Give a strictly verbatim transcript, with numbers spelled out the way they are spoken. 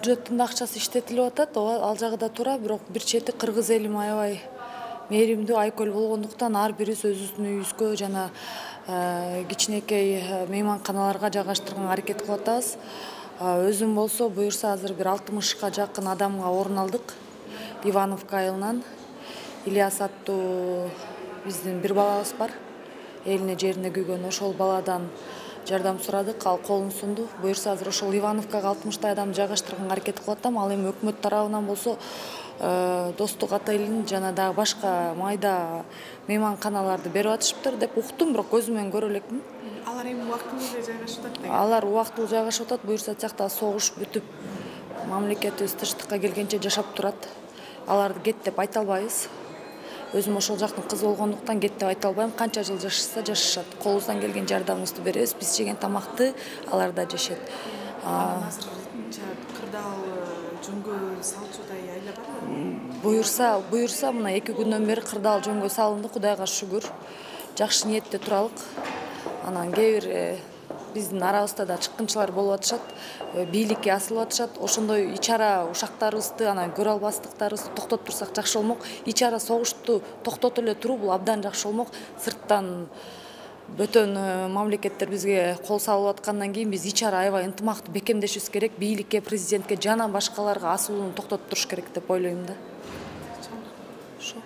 бюджеттин акчасы иштетилип атат, ал жагы да туура, бирок бир чети кыргыз элим аябай мээримдүү айкөл болгондуктан ар бирибиз өзүбүздүн үйүбүзгө жана кичинекей мейманканаларга жайгаштырганга аракет кылып атабыз. Өзүм болсо буюрса азыр бир алтымышка жакын адамга орун алдык. Ивановка айылынан Ильяс аттуу биздин бир балабыз бар. Элине жерине күйгөн, ошол баладан жардам сурадык, ал колун сунду. Буюрса азыр ошол Ивановкага алтымыштай адамды жайгаштырганга аракет кылып атам. Ал эми өкмөт тарабынан болсо Достук отелин жана дагы башка майда мейманканаларды берип атышыптыр деп уктум, бирок көзүм менен көрө элекмин. Алар эми убактылуу эле жайгашып атат деген. Алар убактылуу жайгашып атат. Буюрса тияктагы согуш бүтүп, мамлекетибиз тынчтыкка келгенче жашап турат. Аларды кет деп айта албайбыз. Өзүм ошол жактын кызы болгондуктан кет деп айта албайм. Канча жыл жашашса жашашат. Колубуздан келген жардамыбызды беребиз. Биз жеген тамакты алар да жешет. Азыр кырдаал жөнгө салчудай айла барбы? Буюрса, буюрса мына эки күндөн бери кырдаал жөнгө салынды, Кудайга шүгүр. Жакшы ниетте туралык. Анан кээ бир биздин арабызда да чыккынчылар болуп атышат, бийликке асылып атышат. Ошондой ичара ушактарыбызды, анан көрө албастыктарыбызды токтотуп турсак жакшы болмок. Ичара согушту токтотуп эле туруу бул абдан жакшы болмок. Сырттан бөтөн мамлекеттер бизге кол салып аткандан кийин биз ичара аябай ынтымактуу бекемдешибиз керек. Бийликке, президентке жана башкаларга асылууну токтотуп туруш керек деп ойлойм да. Ошо.